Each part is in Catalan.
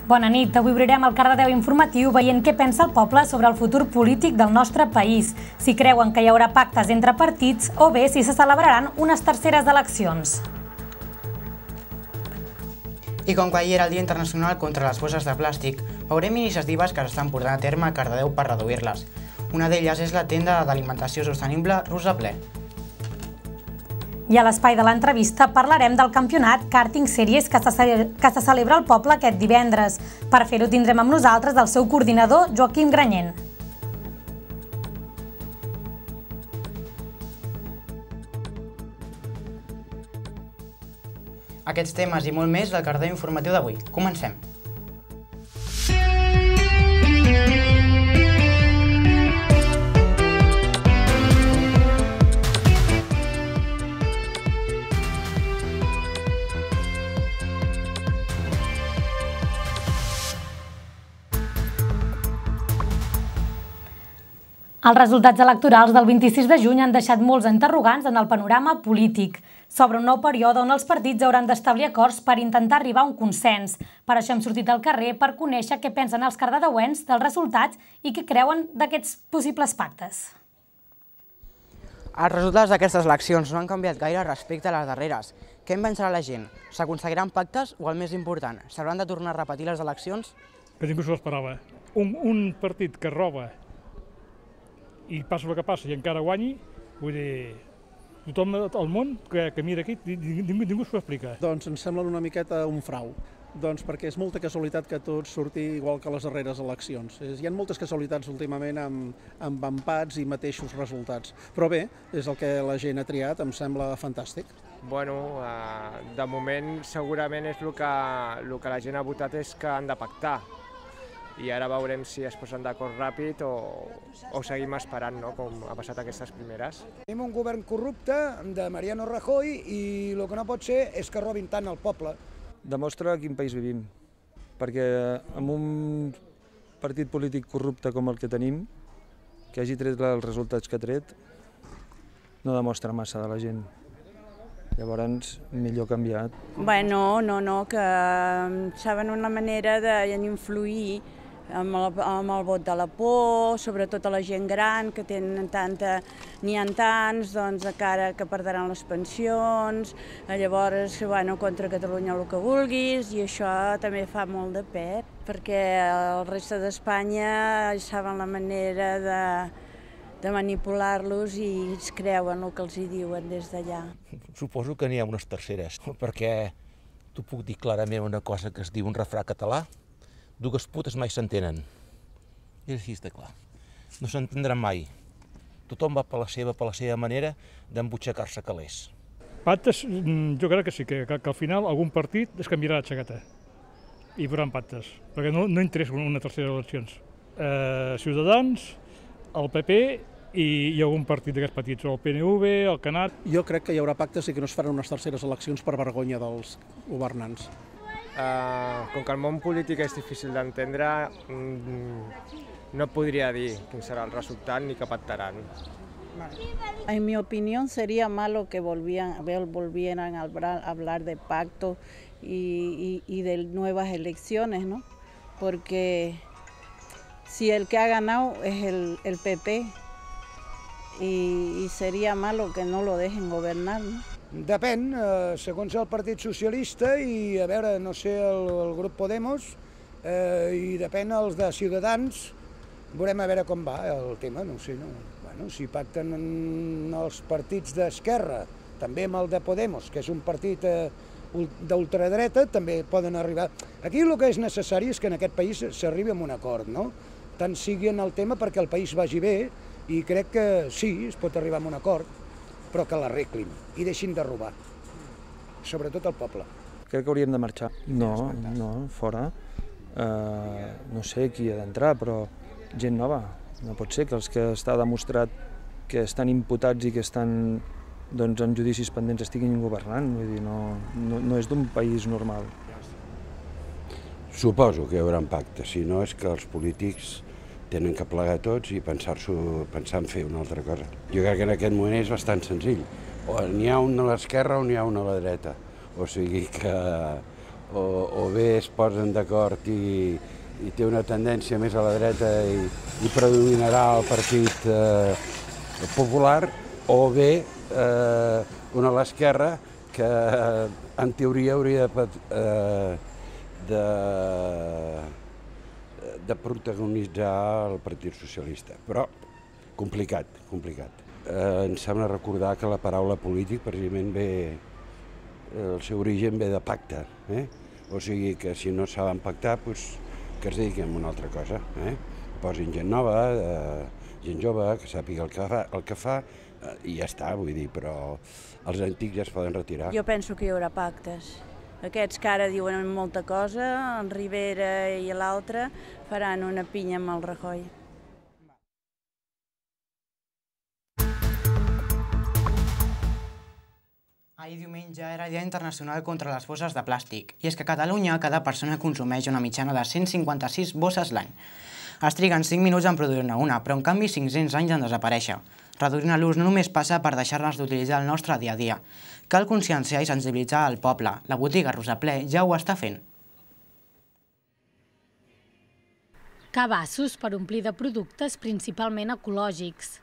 Bona nit, avui obrirem el Cardedeu informatiu veient què pensa el poble sobre el futur polític del nostre país, si creuen que hi haurà pactes entre partits o bé si se celebraran unes terceres eleccions. I com que ahir era el Dia Internacional contra les bosses de plàstic, veurem iniciatives que s'estan portant a terme a Cardedeu per reduir-les. Una d'elles és la tenda d'alimentació sostenible Rosa Ple. I a l'espai de l'entrevista parlarem del campionat Karting Series que se celebra al poble aquest divendres. Per fer-ho tindrem amb nosaltres el seu coordinador, Joaquim Granyent. Aquests temes i molt més del Cardedeu informatiu d'avui. Comencem! Els resultats electorals del 26 de juny han deixat molts interrogants en el panorama polític. S'obre un nou període on els partits hauran d'establir acords per intentar arribar a un consens. Per això hem sortit al carrer per conèixer què pensen els cardedeuencs dels resultats i què creuen d'aquests possibles pactes. Els resultats d'aquestes eleccions no han canviat gaire respecte a les darreres. Què en pensarà la gent? S'aconseguiran pactes o, el més important, s'hauran de tornar a repetir les eleccions? Que ningú s'ho esperava. Un partit que roba i passa el que passa i encara guanyi, vull dir, tothom al món que mira aquí, ningú s'ho explica. Doncs ens sembla una miqueta un frau, perquè és molta casualitat que tot surti igual que les darreres eleccions. Hi ha moltes casualitats últimament amb empats i mateixos resultats, però bé, és el que la gent ha triat, em sembla fantàstic. Bueno, de moment segurament és el que la gent ha votat és que han de pactar. I ara veurem si es posen d'acord ràpid o seguim esperant, no?, com ha passat aquestes primeres. Tenim un govern corrupte de Mariano Rajoy i el que no pot ser és que robin tant al poble. Demostra quin país vivim, perquè amb un partit polític corrupte com el que tenim, que hagi tret els resultats que ha tret, no demostra massa de la gent. Llavors, millor canviar. Bueno, no, que saben una manera d'influir amb el vot de la por, sobretot a la gent gran, que n'hi ha tants, doncs encara que perdran les pensions, llavors, bueno, contra Catalunya el que vulguis, i això també fa molt de pet, perquè el reste d'Espanya saben la manera de manipular-los i es creuen el que els hi diuen des d'allà. Suposo que n'hi ha unes terceres, perquè t'ho puc dir clarament una cosa que es diu un refrà català: dues putes mai s'entenen. És així de clar. No s'entendran mai. Tothom va per la seva manera d'embutxacar-se calés. Pactes, jo crec que sí, que al final algun partit es canviarà de xaqueta i hi haurà pactes, perquè no interessa una tercera eleccions. Ciutadans, el PP i algun partit d'aquests petits, el PNV, el Canat. Jo crec que hi haurà pactes i que no es faran unes terceres eleccions per vergonya dels governants. Com que el món polític és difícil d'entendre, no podria dir quin serà el resultat ni que pactaran. En mi opinión sería malo que volvieran a hablar de pacto y de nuevas elecciones, ¿no? Porque si el que ha ganado es el PP y sería malo que no lo dejen gobernar, ¿no? Depèn, segons el Partit Socialista i, a veure, no sé, el grup Podemos, i depèn els de Ciutadans, veurem a veure com va el tema, no sé, no? Bueno, si pacten els partits d'esquerra, també amb el de Podemos, que és un partit d'ultradreta, també poden arribar. Aquí el que és necessari és que en aquest país s'arribi a un acord, no? Tant sigui en el tema perquè el país vagi bé, i crec que sí, es pot arribar a un acord, però que l'arreglin i deixin de robar, sobretot al poble. Crec que hauríem de marxar. No, fora. No sé qui ha d'entrar, però gent nova. No pot ser que els que està demostrat que estan imputats i que estan en judicis pendents estiguin governant. Vull dir, no és d'un país normal. Suposo que hi haurà pacte, si no és que els polítics tenen que plegar tots i pensar en fer una altra cosa. Jo crec que en aquest moment és bastant senzill. O n'hi ha un a l'esquerra o n'hi ha un a la dreta. O sigui que o bé es posen d'acord i té una tendència més a la dreta i predominarà el Partit Popular, o bé una a l'esquerra que en teoria hauria de protagonitzar el Partit Socialista, però complicat. Em sembla recordar que la paraula polític precisament ve, el seu origen ve de pacte, o sigui que si no saben pactar, que es dediquin a una altra cosa, posin gent nova, gent jove, que sàpiga el que fa i ja està, vull dir, però els antics ja es poden retirar. Jo penso que hi haurà pactes. Aquests que ara diuen molta cosa, en Rivera i l'altre, faran una pinya amb el Rajoy. Ahir diumenge era el Dia Internacional contra les bosses de plàstic, i és que a Catalunya cada persona consumeix una mitjana de 156 bosses l'any. Es triguen 5 minuts en produir-ne una, però en canvi 500 anys en desaparèixer. Reduir-ne l'ús no només passa per deixar-les d'utilitzar el nostre dia a dia. Cal conscienciar i sensibilitzar el poble. La botiga Rosaplè ja ho està fent. Cabassos per omplir de productes principalment ecològics.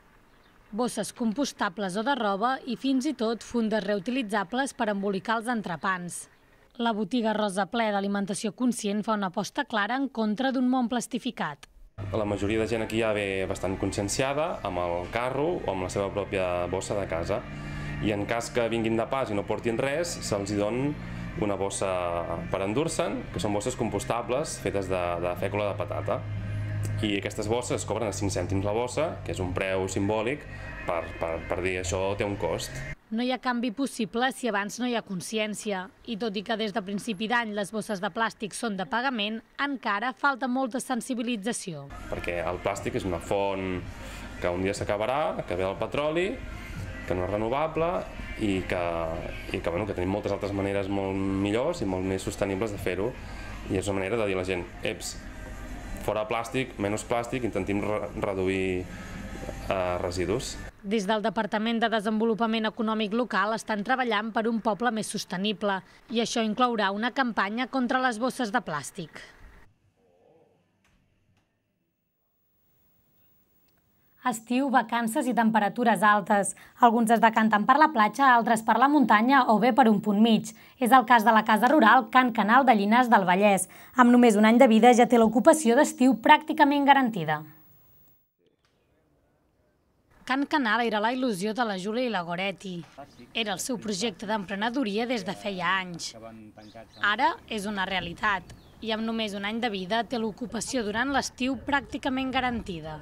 Bosses compostables o de roba i fins i tot fundes reutilitzables per embolicar els entrepans. La botiga Rosaplè d'Alimentació Conscient fa una aposta clara en contra d'un món plastificat. La majoria de gent aquí ja ve bastant conscienciada amb el carro o amb la seva pròpia bossa de casa. I en cas que vinguin de pas i no portin res, se'ls dona una bossa per endur-se'n, que són bosses compostables fetes de fècula de patata. I aquestes bosses cobren a 5 cèntims la bossa, que és un preu simbòlic per dir això té un cost. No hi ha canvi possible si abans no hi ha consciència. I tot i que des de principi d'any les bosses de plàstic són de pagament, encara falta molta sensibilització. Perquè el plàstic és una font que un dia s'acabarà, que ve del petroli, que no és renovable i que tenim moltes altres maneres molt millors i molt més sostenibles de fer-ho. I és una manera de dir a la gent, fora plàstic, menys plàstic, intentim reduir residus. Des del Departament de Desenvolupament Econòmic Local estan treballant per un poble més sostenible i això inclourà una campanya contra les bosses de plàstic. Estiu, vacances i temperatures altes. Alguns es decanten per la platja, altres per la muntanya o bé per un punt mig. És el cas de la casa rural Can Canal de Llinars del Vallès. Amb només un any de vida ja té l'ocupació d'estiu pràcticament garantida. Can Canal era la il·lusió de la Júlia i la Goretti. Era el seu projecte d'emprenedoria des de feia anys. Ara és una realitat i amb només un any de vida té l'ocupació durant l'estiu pràcticament garantida.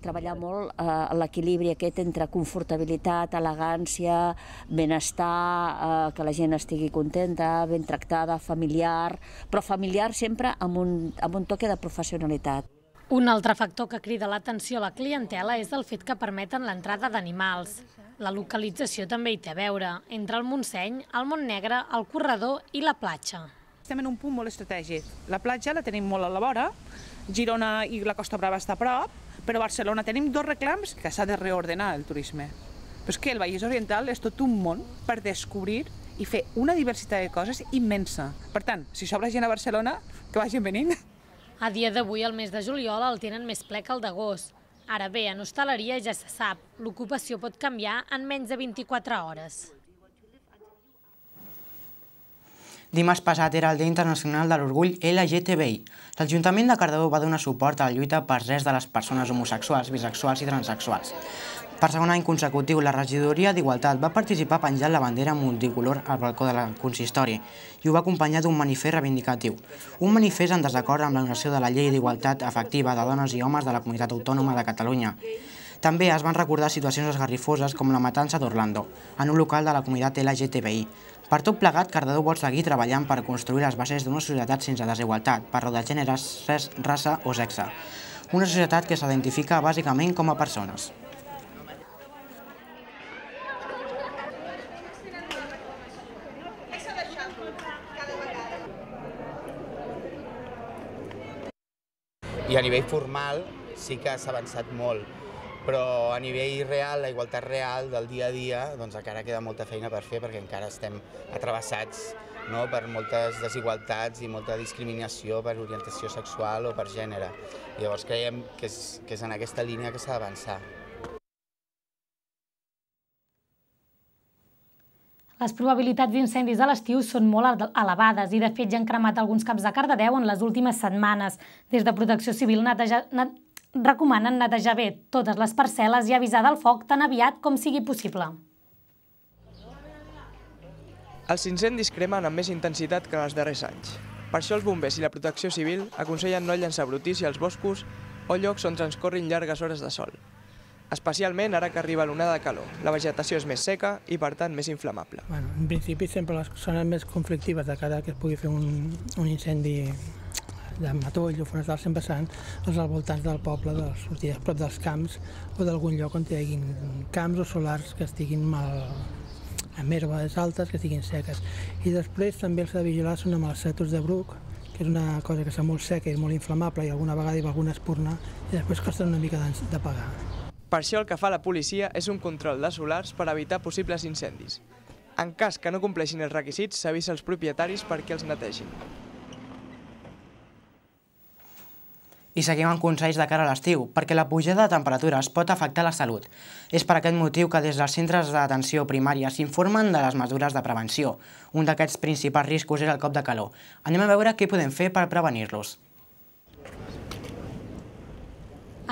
Treballar molt l'equilibri aquest entre confortabilitat, elegància, benestar, que la gent estigui contenta, ben tractada, familiar, però familiar sempre amb un toque de professionalitat. Un altre factor que crida l'atenció a la clientela és el fet que permeten l'entrada d'animals. La localització també hi té a veure, entre el Montseny, el Montnegre, el Corredor i la platja. Estem en un punt molt estratègic. La platja la tenim molt a la vora, Girona i la Costa Brava està a prop, però a Barcelona tenim dos reclams que s'ha de reordenar el turisme. Però és que el Vallès Oriental és tot un món per descobrir i fer una diversitat de coses immensa. Per tant, si sobra gent a Barcelona, que vagin venint. A dia d'avui, el mes de juliol, el tenen més ple que el d'agost. Ara bé, en hostaleria ja se sap, l'ocupació pot canviar en menys de 24 hores. Dimarts passat era el Dia Internacional de l'Orgull LGTBI. L'Ajuntament de Cardedeu va donar suport a la lluita pels drets de les persones homosexuals, bisexuals i transsexuals. Per segon any consecutiu, la regidoria d'Igualtat va participar penjant la bandera multicolor al balcó del consistori i ho va acompanyar d'un manifest reivindicatiu. Un manifest en desacord amb l'anul·lació de la llei d'igualtat efectiva de dones i homes de la Comunitat Autònoma de Catalunya. També es van recordar situacions esgarrifoses com la matança d'Orlando, en un local de la comunitat LGTBI. Per tot plegat, Cardedeu vol seguir treballant per construir les bases d'una societat sense desigualtat, per raó de gènere, raça o sexe. Una societat que s'identifica bàsicament com a persones. I a nivell formal sí que s'ha avançat molt, però a nivell real, la igualtat real del dia a dia, doncs encara queda molta feina per fer perquè encara estem atravessats per moltes desigualtats i molta discriminació per orientació sexual o per gènere. Llavors creiem que és en aquesta línia que s'ha d'avançar. Les probabilitats d'incendis a l'estiu són molt elevades i, de fet, ja han cremat alguns camps de Cardedeu en les últimes setmanes. Des de Protecció Civil recomanen netejar bé totes les parcel·les i avisar del foc tan aviat com sigui possible. Els incendis cremen amb més intensitat que en els darrers anys. Per això els bombers i la Protecció Civil aconsellen no llançar brutícia als boscos o llocs on transcorrin llargues hores de sol. Especialment ara que arriba l'onada de calor. La vegetació és més seca i, per tant, més inflamable. En principi, sempre les zones més conflictives de cara que es pugui fer un incendi de matoll o forestal sempre seran als voltants del poble, de les sortides prop dels camps o d'algun lloc on hi hagi camps o solars que estiguin amb herbes altes, que estiguin seques. I després també els de vigilar són amb els cètols de bruc, que és una cosa que està molt seca i molt inflamable i alguna vegada hi va alguna espurna i després costa una mica d'apagar. Per això el que fa la policia és un control de solars per evitar possibles incendis. En cas que no compleixin els requisits, s'avisa als propietaris perquè els netegin. I seguim amb consells de cara a l'estiu, perquè la pujada de temperatures pot afectar la salut. És per aquest motiu que des dels centres d'atenció primària s'informen de les mesures de prevenció. Un d'aquests principals riscos és el cop de calor. Anem a veure què podem fer per prevenir-los.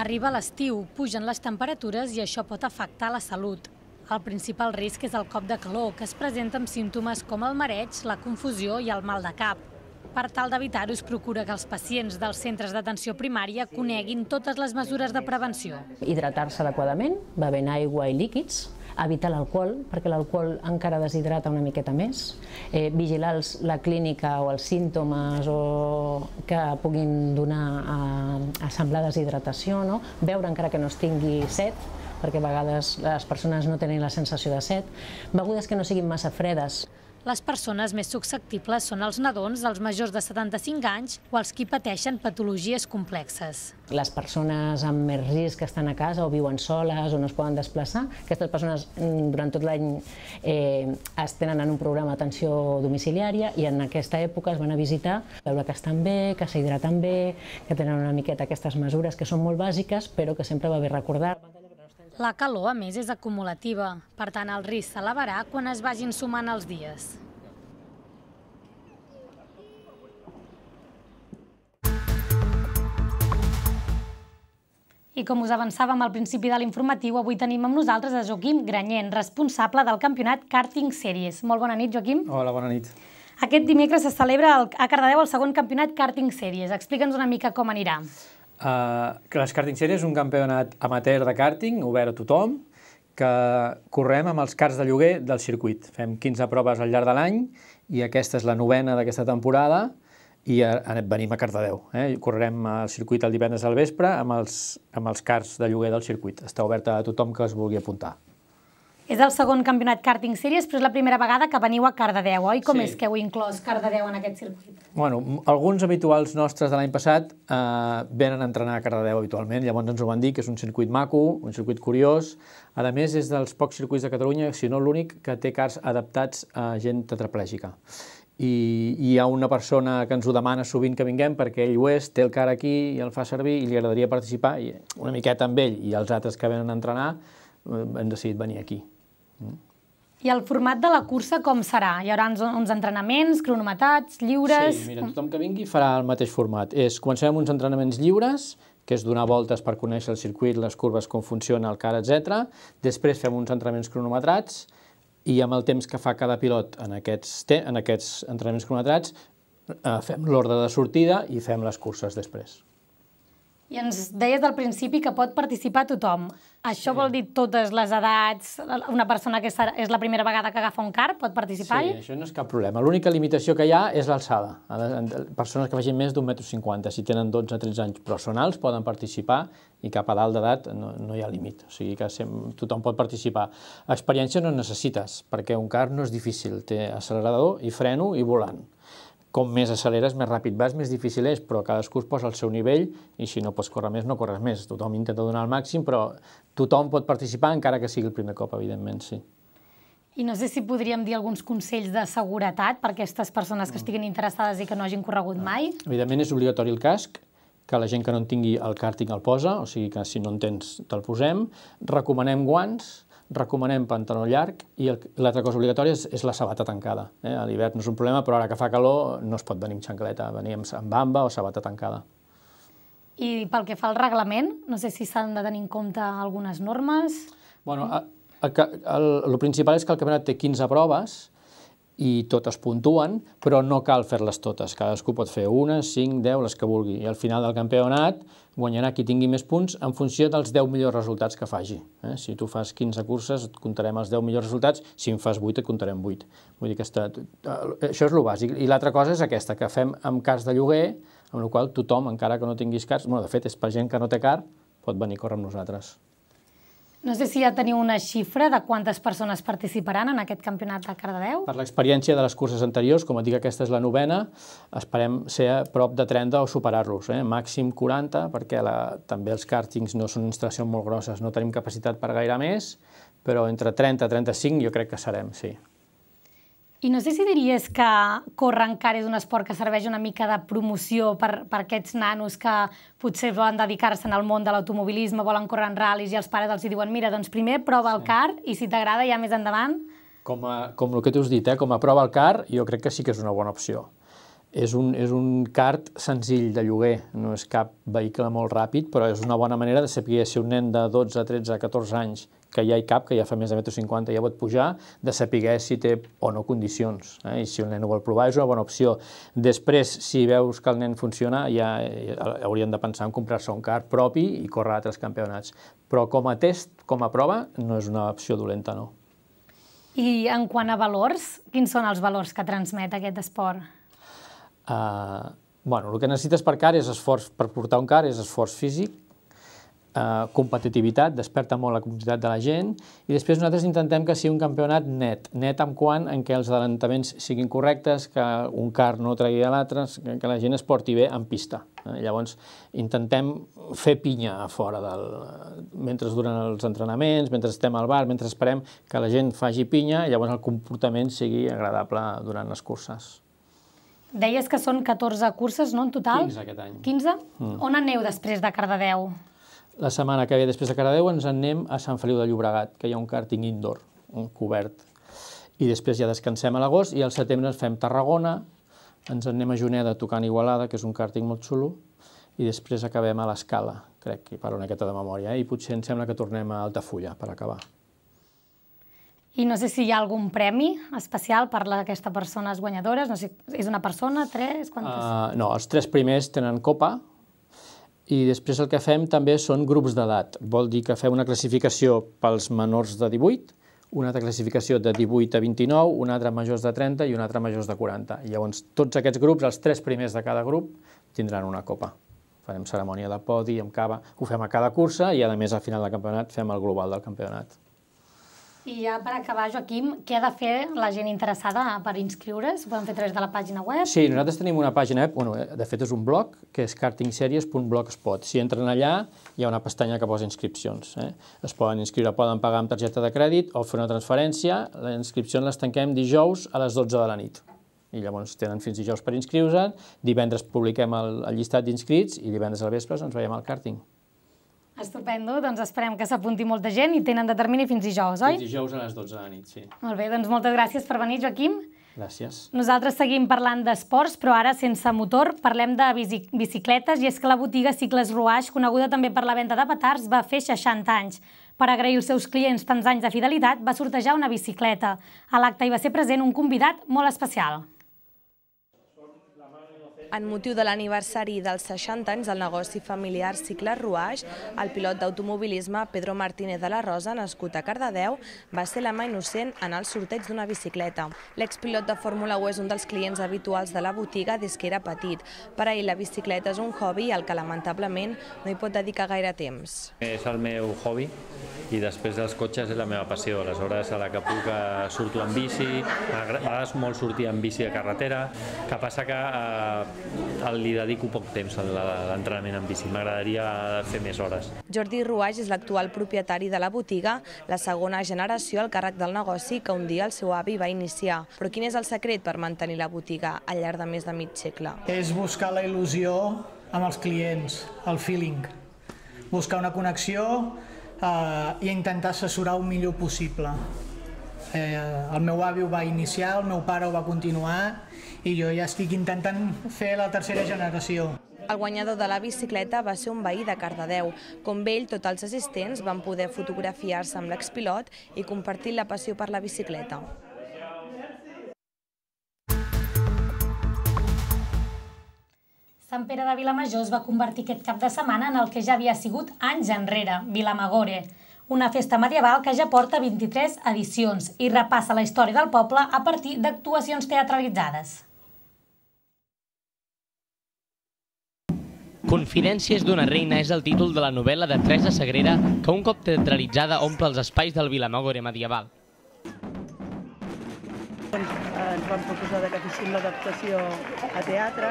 Arriba l'estiu, pugen les temperatures i això pot afectar la salut. El principal risc és el cop de calor, que es presenta amb símptomes com el mareig, la confusió i el mal de cap. Per tal d'evitar-ho, es procura que els pacients dels centres d'atenció primària coneguin totes les mesures de prevenció. Hidratar-se adequadament, bevent aigua i líquids, evitar l'alcohol, perquè l'alcohol encara deshidrata una miqueta més, vigilar la clínica o els símptomes que puguin donar a semblar deshidratació, beure encara que no es tingui set, perquè a vegades les persones no tenen la sensació de set, begudes que no siguin massa fredes. Les persones més susceptibles són els nadons, els majors de 75 anys o els qui pateixen patologies complexes. Les persones amb més risc que estan a casa o viuen soles o no es poden desplaçar, aquestes persones durant tot l'any es tenen en un programa d'atenció domiciliària i en aquesta època es van a visitar, veure que estan bé, que s'hidraten bé, que tenen una miqueta aquestes mesures que són molt bàsiques però que sempre va bé recordar. La calor, a més, és acumulativa. Per tant, el risc s'elevarà quan es vagin sumant els dies. I com us avançàvem al principi de l'informatiu, avui tenim amb nosaltres a Joaquim Granyent, responsable del campionat Karting Series. Molt bona nit, Joaquim. Hola, bona nit. Aquest dimecres se celebra a Cardedeu el segon campionat Karting Series. Explica'ns una mica com anirà. Les Karting Series és un campionat amateur de karting, obert a tothom, que correm amb els karts de lloguer del circuit. Fem 15 proves al llarg de l'any i aquesta és la 9a d'aquesta temporada i venim a Cardedeu. Correrem al circuit el divendres al vespre amb els karts de lloguer del circuit. Està obert a tothom que es vulgui apuntar. És el segon campionat Karting Series, però és la primera vegada que veniu a Cardedeu, oi? Com és que heu inclòs Cardedeu en aquest circuit? Bueno, alguns habituals nostres de l'any passat venen a entrenar a Cardedeu habitualment, llavors ens ho van dir, que és un circuit maco, un circuit curiós. A més, és dels pocs circuits de Catalunya, si no l'únic, que té karts adaptats a gent tetraplègica. I hi ha una persona que ens ho demana sovint que vinguem perquè ell ho és, té el kart aquí i el fa servir i li agradaria participar, i una miqueta amb ell i els altres que venen a entrenar hem decidit venir aquí. I el format de la cursa com serà? Hi haurà uns entrenaments, cronometrats, lliures... Sí, mira, tothom que vingui farà el mateix format. Comencem amb uns entrenaments lliures, que és donar voltes per conèixer el circuit, les curves, com funciona el kart, etc. Després fem uns entrenaments cronometrats i amb el temps que fa cada pilot en aquests entrenaments cronometrats fem l'ordre de sortida i fem les curses després. I ens deies al principi que pot participar tothom. Això vol dir totes les edats? Una persona que és la primera vegada que agafa un kart pot participar-hi? Sí, això no és cap problema. L'única limitació que hi ha és l'alçada. Persones que vagin més d'1,50 m, si tenen 12-13 anys, però són alts, poden participar i cap a dalt d'edat no hi ha límit. O sigui que tothom pot participar. Experiència no necessites, perquè un kart no és difícil. Té accelerador i freno i volant. Com més acceleres, més ràpid vas, més difícil és, però cadascú es posa al seu nivell i si no pots córrer més, no corres més. Tothom intenta donar el màxim, però tothom pot participar, encara que sigui el primer cop, evidentment, sí. I no sé si podríem dir alguns consells de seguretat per a aquestes persones que estiguin interessades i que no hagin corregut mai. Evidentment és obligatori el casc, que la gent que no en tingui el càrting el posa, o sigui que si no en tens te'l posem. Recomanem guants, recomanem pantaló llarg i l'altra cosa obligatòria és la sabata tancada. A l'hivern no és un problema, però ara que fa calor no es pot venir amb xancleta, venir amb bamba o sabata tancada. I pel que fa al reglament, no sé si s'han de tenir en compte algunes normes. Bueno, el principal és que el campionat té 15 proves i totes puntuen, però no cal fer-les totes. Cadascú pot fer una, 5, 10, les que vulgui. I al final del campionat guanyarà qui tingui més punts en funció dels 10 millors resultats que faci. Si tu fas 15 curses, et comptarem els 10 millors resultats. Si en fas 8, et comptarem 8. Vull dir que això és el bàsic. I l'altra cosa és aquesta, que fem amb cars de lloguer, amb la qual tothom, encara que no tinguis cars, de fet, és per gent que no té car, pot venir a córrer amb nosaltres. No sé si ja teniu una xifra de quantes persones participaran en aquest campionat de Cardedeu. Per l'experiència de les curses anteriors, com et dic, aquesta és la 9a, esperem ser a prop de 30 o superar-los, màxim 40, perquè també els càrtings no són instal·lacions molt grosses, no tenim capacitat per gaire més, però entre 30 i 35 jo crec que serem, sí. I no sé si diries que córrer encara és un esport que serveix una mica de promoció per aquests nanos que potser volen dedicar-se al món de l'automobilisme, volen córrer en ral·lis i els pares els diuen mira, doncs primer prova el kart i si t'agrada ja més endavant. Com el que t'has dit, com a prova al kart, jo crec que sí que és una bona opció. És un kart senzill de lloguer, no és cap vehicle molt ràpid, però és una bona manera de saber si un nen de 12, 13, 14 anys, que ja hi cap, que ja fa més de 1,50 m, ja pot pujar, de saber si té o no condicions. I si el nen ho vol provar és una bona opció. Després, si veus que el nen funciona, ja haurien de pensar en comprar-se un kart propi i córrer a altres campionats. Però com a test, com a prova, no és una opció dolenta, no. I en quant a valors, quins són els valors que transmet aquest esport? El que necessites per portar un car és esforç físic, competitivitat, desperta molt la competitivitat de la gent, i després nosaltres intentem que sigui un campionat net en quant en què els adelantaments siguin correctes, que un car no tregui a l'altre, que la gent es porti bé en pista. Llavors intentem fer pinya a fora mentre duren els entrenaments, mentre estem al bar, mentre esperem que la gent faci pinya, i llavors el comportament sigui agradable durant les curses. Deies que són 14 curses, no, en total? 15 aquest any. 15? On aneu després de Cardedeu? La setmana que ve després de Cardedeu ens en anem a Sant Feliu de Llobregat, que hi ha un càrting indoor, un cobert. I després ja descansem a l'agost i al setembre ens fem Tarragona, ens en anem a Juneda tocant Igualada, que és un càrting molt xulo, i després acabem a l'Escala, crec que parlo una miqueta de memòria, i potser em sembla que tornem a Altafulla per acabar. I no sé si hi ha algun premi especial per a aquestes persones guanyadores, no sé, és una persona, 3, quantes? No, els 3 primers tenen copa, i després el que fem també són grups d'edat. Vol dir que fem una classificació pels menors de 18, una altra classificació de 18 a 29, una altra majors de 30 i una altra majors de 40. I llavors tots aquests grups, els 3 primers de cada grup, tindran una copa. Farem cerimònia de podi amb cava, ho fem a cada cursa i a més al final del campionat fem el global del campionat. I ja per acabar, Joaquim, què ha de fer la gent interessada per inscriure's? Ho poden fer a través de la pàgina web? Sí, nosaltres tenim una pàgina web, de fet és un blog, que és kartingseries.blogspot. Si entren allà, hi ha una pestanya que posa inscripcions. Es poden inscriure, poden pagar amb targeta de crèdit o fer una transferència. Les inscripcions les tanquem dijous a les 12 de la nit. I llavors tenen fins dijous per inscriure's, divendres publiquem el llistat d'inscrits i divendres al vespre ens veiem al càrting. Estupendo, doncs esperem que s'apunti molta gent i tenen de termini fins dijous, oi? Fins dijous a les 12 de la nit, sí. Molt bé, doncs moltes gràcies per venir, Joaquim. Gràcies. Nosaltres seguim parlant d'esports, però ara sense motor parlem de bicicletes, i és que la botiga Cicles Rouage, coneguda també per la venda de petards, va fer 60 anys. Per agrair als seus clients tants anys de fidelitat, va sortejar una bicicleta. A l'acte hi va ser present un convidat molt especial. En motiu de l'aniversari dels 60 anys del negoci familiar Cicles Rouage, el pilot d'automobilisme Pedro Martínez de la Rosa, nascut a Cardedeu, va ser la mà innocent en el sorteig d'una bicicleta. L'expilot de Fórmula 1 és un dels clients habituals de la botiga des que era petit. Per a ell la bicicleta és un hobby al que lamentablement no hi pot dedicar gaire temps. És el meu hobby i després dels cotxes és la meva passió. Aleshores, a la que puc surto en bici, m'agrada molt sortir en bici de carretera, que passa que li dedico poc temps a l'entrenament en bici. M'agradaria fer més hores. Jordi Ruaix és l'actual propietari de la botiga, la segona generació al càrrec del negoci que un dia el seu avi va iniciar. Però quin és el secret per mantenir la botiga al llarg de més de mig segle? És buscar la il·lusió amb els clients, el feeling. Buscar una connexió i intentar assessorar el millor possible. El meu avi ho va iniciar, el meu pare ho va continuar i jo ja estic intentant fer la tercera generació. El guanyador de la bicicleta va ser un veí de Cardedeu. Com ell, tots els assistents van poder fotografiar-se amb l'expilot i compartir la passió per la bicicleta. Sant Pere de Vilamajor es va convertir aquest cap de setmana en el que ja havia sigut anys enrere, Vilamagore, una festa medieval que ja porta 23 edicions i repassa la història del poble a partir d'actuacions teatralitzades. Confidències d'una reina és el títol de la novel·la de Teresa Sagrera que un cop teatralitzada omple els espais del Vilamagore medieval. Ens vam proposar que féssim l'adaptació a teatre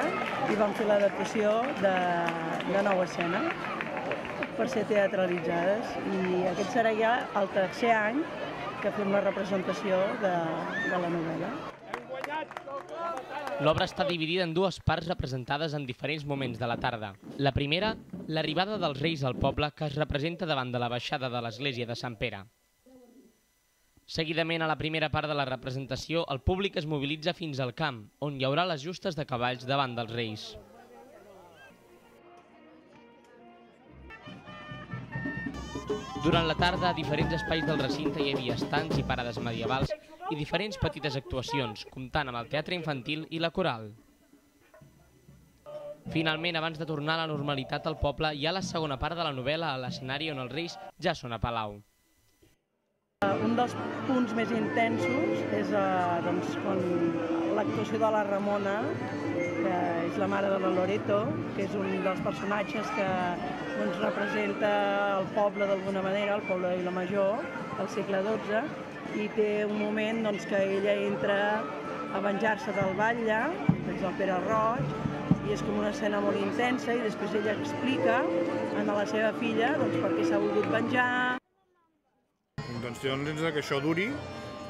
i vam fer l'adaptació de nova escena per ser teatralitzades i aquest serà ja el tercer any que fem la representació de la novel·la. L'obra està dividida en dues parts representades en diferents moments de la tarda. La primera, l'arribada dels reis al poble, que es representa davant de la baixada de l'església de Sant Pere. Seguidament, a la primera part de la representació, el públic es mobilitza fins al camp, on hi haurà les justes de cavalls davant dels reis. Durant la tarda, a diferents espais del recinte hi havia estands i parades medievals i diferents petites actuacions, comptant amb el teatre infantil i la coral. Finalment, abans de tornar a la normalitat al poble, hi ha la segona part de la novel·la a l'escenari on els reis ja són a palau. Un dels punts més intensos és l'actuació de la Ramona, que és la mare de la Loreto, que és un dels personatges que representa el poble d'alguna manera, el poble de Vilamajor, al segle XII, i té un moment que ella entra a venjar-se del batlle, que és el Pere Roig, i és com una escena molt intensa, i després ella explica a la seva filla per què s'ha volgut venjar. Doncs que això duri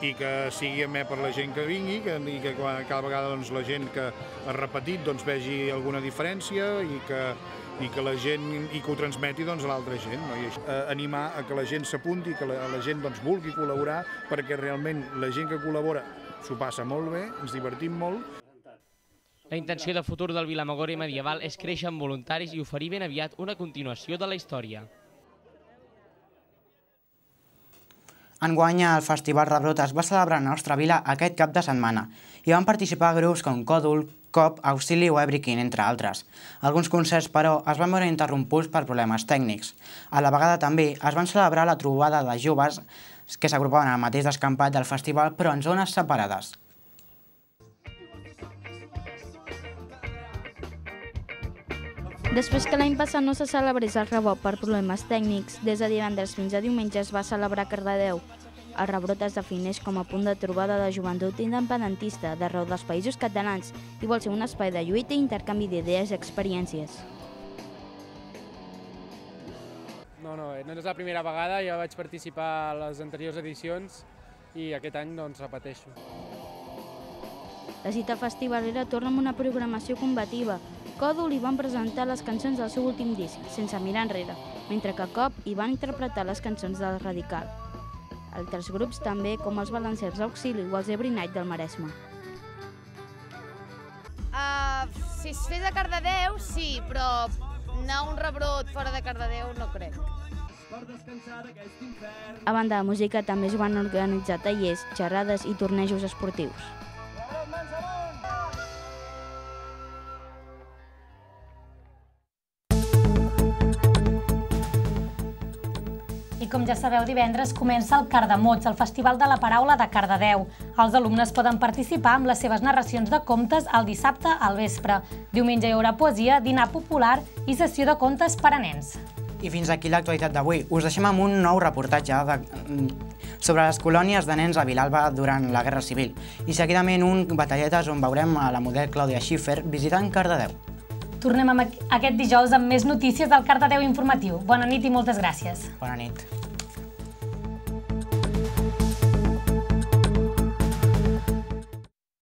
i que sigui amè per la gent que vingui i que cada vegada la gent que ha repetit vegi alguna diferència i que la gent ho transmeti a l'altra gent. Animar a que la gent s'apunti, que la gent vulgui col·laborar, perquè realment la gent que col·labora s'ho passa molt bé, ens divertim molt. La intenció de futur del Vilamagore medieval és créixer amb voluntaris i oferir ben aviat una continuació de la història. Enguany, el Festival Rebrota es va celebrar a la nostra vila aquest cap de setmana i van participar grups com Còdul, Cop, Auxili o Ebrikin, entre altres. Alguns concerts, però, es van veure interromputs per problemes tècnics. A la vegada també es van celebrar la trobada de joves que s'agrupaven al mateix descampat del festival, però en zones separades. Després que l'any passat no se celebrés el Rebot per problemes tècnics, des de divendres fins a diumenge es va celebrar a Cardedeu. El Rebrot es defineix com a punt de trobada de joventut independentista d'arreu dels països catalans i vol ser un espai de lluita i intercanvi d'idees i experiències. No és la primera vegada, ja vaig participar a les anteriors edicions i aquest any repeteixo. La cita festivalera torna amb una programació combativa. Còdul hi van presentar les cançons del seu últim disc, sense mirar enrere, mentre que Cop hi van interpretar les cançons del Radical. Altres grups també, com els Balancers Auxili o els Every Night del Maresme. Si es fes a Cardedeu, sí, però anar a un rebrot fora de Cardedeu no crec. A banda de música també es van organitzar tallers, xerrades i tornejos esportius. I com ja sabeu, divendres comença el Cardamots, el Festival de la Paraula de Cardedeu. Els alumnes poden participar amb les seves narracions de contes el dissabte al vespre. Diumenge hi haurà poesia, dinar popular i sessió de contes per a nens. I fins aquí l'actualitat d'avui. Us deixem amb un nou reportatge sobre les colònies de nens a Vilalba durant la Guerra Civil i seguidament un Batalletes on veurem a la model Clàudia Schiffer visitant Cardedeu. Tornem aquest dijous amb més notícies del Cardedeu Informatiu. Bona nit i moltes gràcies. Bona nit.